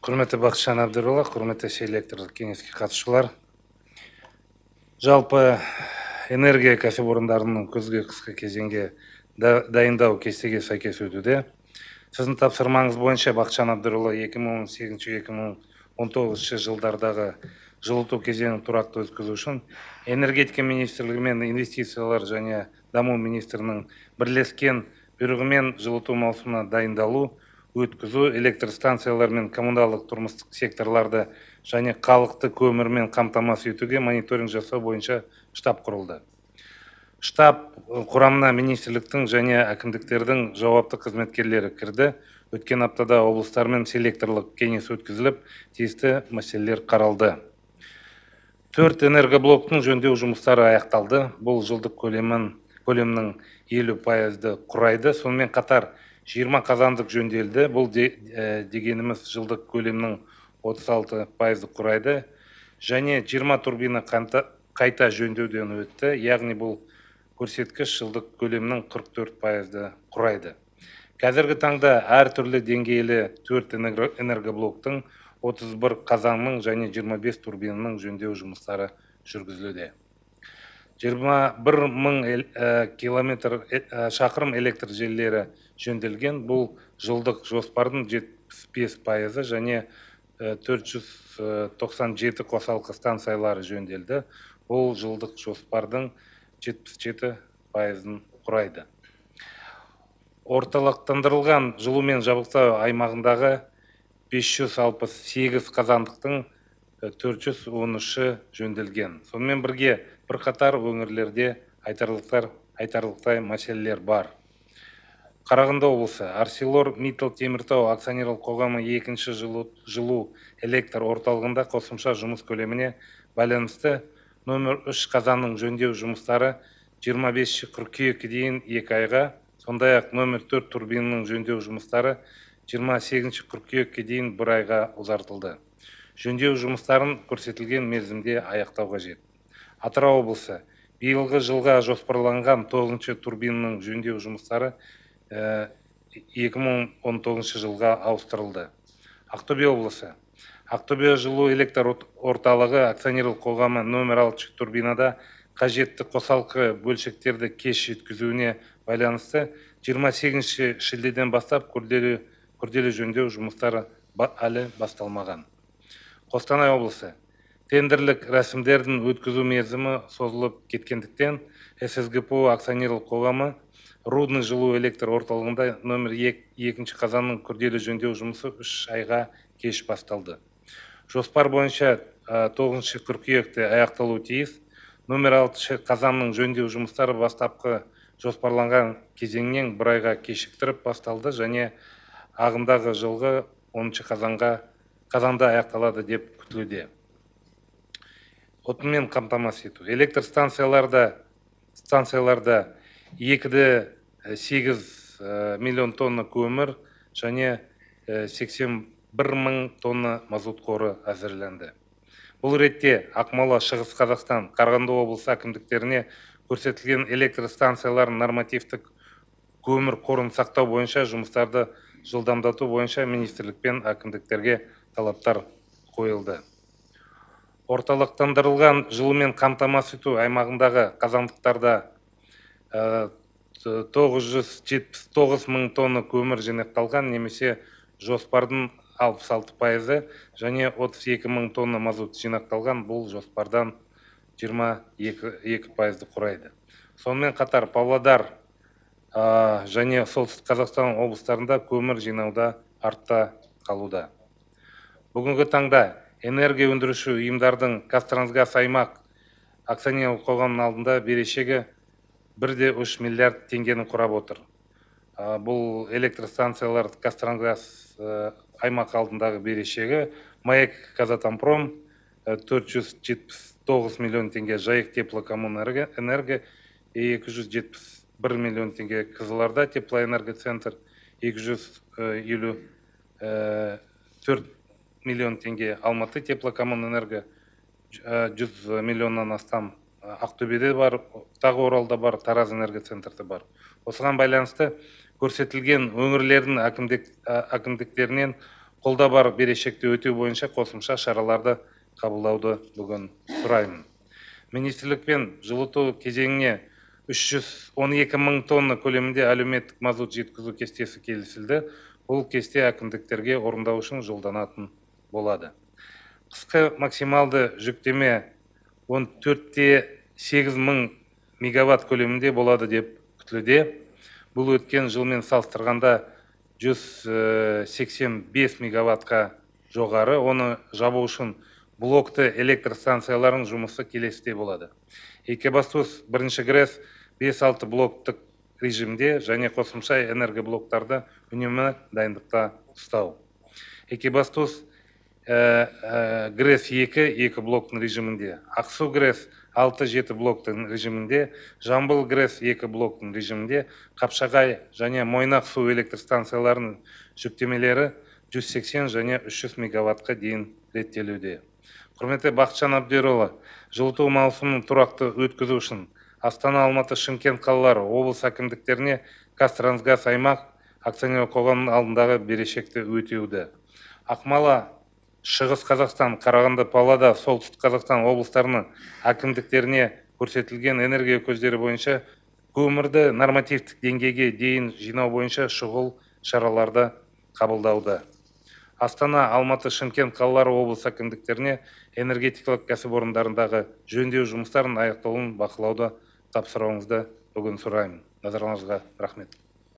Құрметті Бақытжан Әбдірұлы, құрметті селекторлық кеңеске қатысушылар. Жалпы энергия кәсіпорындарының күзгі қысқы кезеңге дайындау кестеге сәйкес өтуде. Сіздің тапсырмаңыз бойынша Бақытжан Әбдірұлы 2018-2019 жылдардағы жылыту кезеңін тұрақты өткізу үшін энергетика министрлігі мен инвестициялар және даму министрінің бірлескен бұйрығымен жылыту маусымына дайындалу, өткізу, электр станциялар мен коммуналдық тұрмыстық секторларды және халықты көмірмен қамтамасыз етуге мониторинг жасау бойынша штаб құрылды. Штаб құрамына министрліктің және әкімдіктердің жауапты қызметкерлері кірді. Өткен аптада облыстармен селекторлық кеңес өткізіліп, тиісті мәселелер қаралды. 4 энергоблоктың жөндеу жұмыстары аяқталды. Бұл жылдық көлемнің 50%-ды құрайды. Сонымен қатар 20 қазандық жөнделді. Бұл дегеніміз жылдық көлемнің 36%-ды құрайды. Және 20 турбина қайта жөндеуден өтті. Яғни бұл көрсеткіш жылдық көлемнің 44%-ды құрайды. Қазіргі таңда әртүрлі деңгейлі 4 энергоблоктың 31 қазанның және 25 турбинаның жөндеу жұмыстары жүргізілуде. 21 мың шақырым электр желілері жөнделген. Бұл жылдық жоспардың 75%, және 497 қосалқы станциялары жөнделді. Бұл жылдық жоспардың 77%-ын құрайды. Орталықтандырылған жылумен жабдықтау аймағындағы 568 қазандықтың 413-і жөнделген. Сонымен бірге бірқатар өңірлерде айтарлықтай мәселелер бар. Қарағанды облысы ArcelorMittal Теміртау акционерлік қоғамы екінші жылу электр орталығында қосымша жұмыс көлеміне байланысты номер 3 қазанның жөндеу жұмыстары 25 қыркүйекке дейін 2 айға, сондай-ақ номер 4 турбинаның жөндеу жұмыстары 28 қыркүйекке дейін 1 айға ұзартылды. Жөндеу жұмыстарын көрсетілген мерзімде аяқтау қажет. Атырау облысы биылғы жылға жоспарланған 9 турбинаның жөндеу жұмыстары 2019 жылға ауыстырылды. Ақтөбе облысы Ақтөбе жылу электр орталығы акционерлік қоғамы номер 6 турбинада қажетті қосалқы бөлшектерді кеш жеткізуіне байланысты 28 шілдеден бастап күрделі жөндеу жұмыстары әлі басталмаған. Қостанай облысы тендерлік рәсімдердің өткізу мерзімі созылып кеткендіктен ССГПО акционерлік қоғамы Рудный жылу электр орталығында номер 2 қазанның күрделі жөндеу жұмысы 3 айға кеш басталды. Жоспар бойынша 9 қыркүйекте аяқталуы тиіс. Номер 6 қазанның жөндеу жұмыстары бастапқы жоспарланған кезеңнен 1 айға кешіктіріп басталды және ағымдағы жылғы 10 қазанда аяқталады деп күтілуде. Отынмен қамтамасыз ету. Электр станцияларда 2,8 миллион тонна көмір және 81 мың тонна мазут қоры әзірленді. Бұл ретте Ақмола, Шығыс Қазақстан, Қарағанды облысы әкімдіктеріне көрсетілген электр станцияларын нормативтік көмір қорын сақтау бойынша жұмыстарды жылдамдату бойынша министрлік пен әкімдіктерге талаптар қойылды. Орталықтандырылған жылумен қамтамасыз ету аймағындағы қазандықтарда 979 мың тонна көмір жинақталған, немесе жоспардың 66%, және 32 мың тонна мазут жинақталған, бұл жоспардан 22%-ды құрайды. Сонымен қатар Павлодар және Солтүстік Қазақстан облыстарында көмір жинауда артта қалуда. Бүгінгі таңда энергия өндіруші ұйымдардың Қазтрансгаз аймақ акционерлік қоғамының алдында берешегі 1,3 миллиард теңгені құрап отыр. Бұл электр станциялар Қазтрансгаз аймақ алдындағы берешегі, Маяк Казатомпром 479 миллион теңге, Жайық теплокоммунэнерго 271 миллион теңге, Қызылорда теплоэнергоцентр 254 миллион теңге, Алматы теплокоммунэнерго 100 миллионнан астам, Ақтөбеде бар, тағы Оралда бар, Тараз энергоцентрді бар. Осыған байланысты көрсетілген өңірлердің әкімдіктерінен қолда бар берешекті өтеу бойынша қосымша шараларды қабылдауды бүгін сұраймын. Министрлікпен жылыту кезеңіне 312 мың тонна көлемінде әлеуметтік мазут жеткізу кестесі келісілді. Бұл кесте әкімдіктерге орындау үшін жолданатын болады. Қысқы максималды жүктеме 14,8 мың мегаватт көлемінде болады деп күтілуде. Бұл өткен жылмен салыстырғанда 185 мегаваттқа жоғары. Оны жабу үшін блокты электр станцияларының жұмысы келесіде болады. Екібастұз бірінші ГРЭС 5-6 блоктық режимде және қосымша энергоблоктарды үнемі дайындықта ұстау. Екібастұз ГРЭС 2 блоктың режимінде, Ақсу ГРЭС 6-7 блоктың режимінде, Жамбыл ГРЭС 2 блоктың режимінде, Қапшағай және Мойнақ су электр станцияларының жүктемелері 180 және 300 мегаваттқа дейін реттелуде. Құрметті Бақытжан Әбдірұлы, жылыту маусымын тұрақты өткізу үшін Астана, Алматы, Шымкент қалалары облыс әкімдіктеріне Қазтрансгаз аймақ акционерлік қоғамының алдындағы берешекті өтеуді. Ақмола, Шығыс Қазақстан, Қарағанды, Павлодар, Солтүстік Қазақстан облыстарының әкімдіктеріне көрсетілген энергия көздері бойынша көмірді нормативтік деңгейге дейін жинау бойынша шұғыл шараларды қабылдауда. Астана, Алматы, Шымкент қалалары облыс әкімдіктеріне энергетикалық кәсіпорындарындағы жөндеу жұмыстарын аяқталуын бақылауды тапсыруыңызды бүгін сұраймын. Назарларыңызға рахмет.